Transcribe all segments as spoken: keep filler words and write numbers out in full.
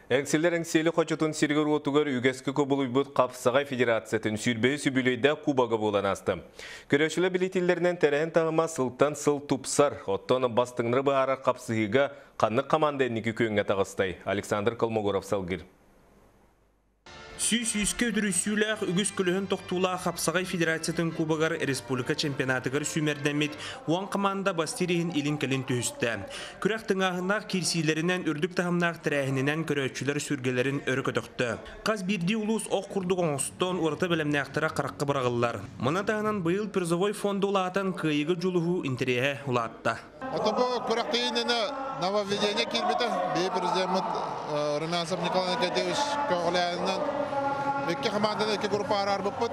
Эҥсиэлэр Эҥсиэли хочотун сиригэр-уотугар үгэскэ кубулуйбут Хапсаҕай федерациятын сүүрбэһис үбүлүөйдээх кубога буолан ааста. Көрөөччүлэр бэлиэтииллэринэн, тэрээһин таһыма сылтан сыл тупсар. Оттон бастыҥнары быһаарар хапсыһыыга ханнык команда инники күөҥҥэ таҕыстай? Александр Колмогоров салгыыр. Сүүс сүүскэ үтүрүйсүүлээх, үгүс көлөһүн тохтуулаах Хапсаҕай федерациятын кубогар республика чемпионатыгар сүүмэрдэммит уон команда бастыыр иһин илин-кэлин түһүстэ. Күрэх тыҥааһыннаах киирсиилэринэн, үрдүк таһымнаах тэрээһининэн көрөөччүлэр сүргэлэрин өрө көтөхтө. Хас биирдии улуус ох курдук оҥостон, ураты бэлэмнээхтэрэ харахха быраҕыллар. Маны таһынан быйыл призовой фонда улаатан, кыайыыга дьулуһуу интэриэһэ улаатта. Ото бу күрэхтэһиигэ нововведение киирбитэ. Биһиги президеммит Румянцев Николай Николаевич көҕүлээһининэн икки команданы икки группа араарбыппыт.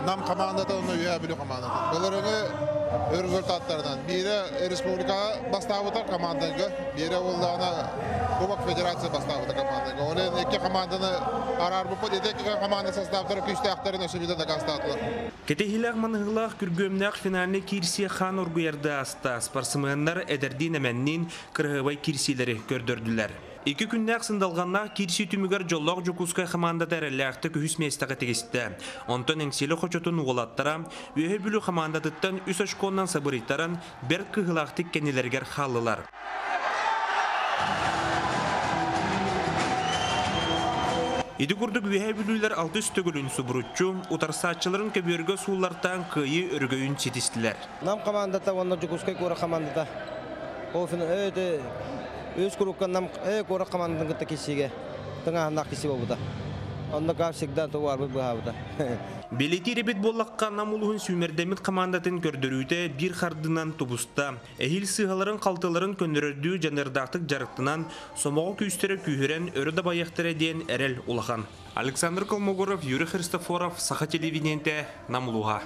Нам командата уонна Үөһээ Бүлүү командата. Былырыыҥҥы результаттарынан. Биирэ республикаҕа бастаабыта командага, биирэ буоллаҕына Кубок Федерация бастаабыта командага. Ол икки команданы араарбыппыт. Ити икки команда составтара күүстээхтэрин өссө биирдэ дакаастаатылар. Кэтэһиилээх-манаһыылаах күргүөмнээх финальнай киирсии хаан оргуйарга ааста. Спортсменнар эдэрдиин эмэнниин кыраһыабай киирсиилэри көрдөрдүлэр. Икки күннээх сындалҕаннаах киирсии түмүгэр дьоллоох Дьокуускай командата эрэллээхтик үһүс миэстэҕэ тигистэ. Онтон Эҥсиэли хочотун уолаттара Үөһээ Бүлүү командатыттан үс очконнан сабырыйтаран, бэрт кыһыылаахтык кэннилэригэр хааллылар. Ити курдук Үөһээ Бүлүүлэр алтыс төгүлүн субуруччу, утарсааччыларын көбүөргэ сууллартаан кыайыы өрөгөйүн ситистилэр. Нам командата уонна Дьокуускай куорат командата. Ол өтө үс курукка Нам куорат командатын кытта киирсиигэ тыҥааһыннаах киирсии буолбута. Онно как всегда товарбыт быһаабыта. Бэлиэтиир эбит буоллахха, Нам улууһун сүүмэрдэммит командатын көрдөрүүтэ биир хардынан тубуста. Эһиил сыыһаларын халтыларын көннөрөрдүү дьаныардаахтык дьарыктанан, сомоҕо күүстэрэ күүһүрэн өрө дабайыахтара диэн эрэл улахан. Александр Колмогоров, Юрий Христофоров, Саха телевидениетэ, Нам улууһа.